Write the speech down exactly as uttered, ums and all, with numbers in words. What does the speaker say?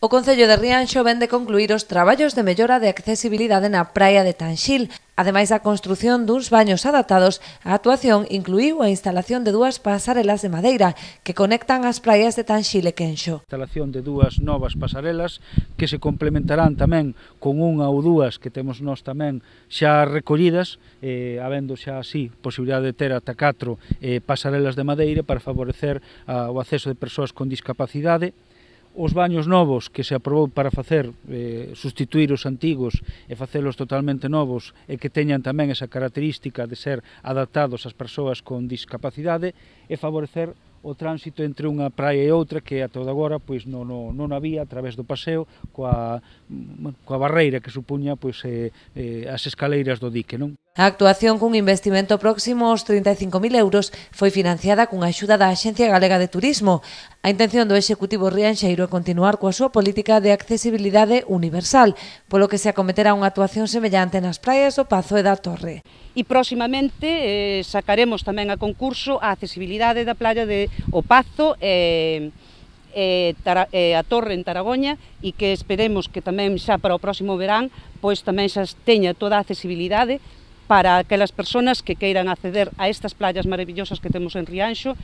O Concello de Rianxo vén de concluir os traballos de mellora de accesibilidade na praia de Tanxil. Ademais da construción duns baños adaptados, a actuación incluíu a instalación de dúas pasarelas de madeira que conectan as praias de Tanxil e Quenxo. A instalación de dúas novas pasarelas que se complementarán tamén con unha ou dúas que temos nós tamén xa recollidas, eh, habendo xa así posibilidade de ter ata catro eh, pasarelas de madeira para favorecer a, o acceso de persoas con discapacidade. Os baños novos que se aprobou para facer, eh, sustituir os antigos e facelos totalmente novos e que teñan tamén esa característica de ser adaptados ás persoas con discapacidade e favorecer o tránsito entre unha praia e outra que ata agora pois, non, non, non había a través do paseo coa, coa barreira que supuña pois, eh, eh, as escaleiras do dique. Non? A actuación cun investimento próximo aos trinta e cinco mil euros foi financiada cunha axuda da Axencia Galega de Turismo. A intención do Executivo rianxeiro é continuar coa súa política de accesibilidade universal, polo que se acometerá unha actuación semellante nas praias do Pazo e da Torre. E próximamente eh, sacaremos tamén a concurso a accesibilidade da playa de O Pazo e, e, Tara, e a Torre en Taragoña e que esperemos que tamén xa para o próximo verán pois tamén xa teña toda a accesibilidade para aquelas persoas que queiran acceder a estas playas maravillosas que temos en Rianxo.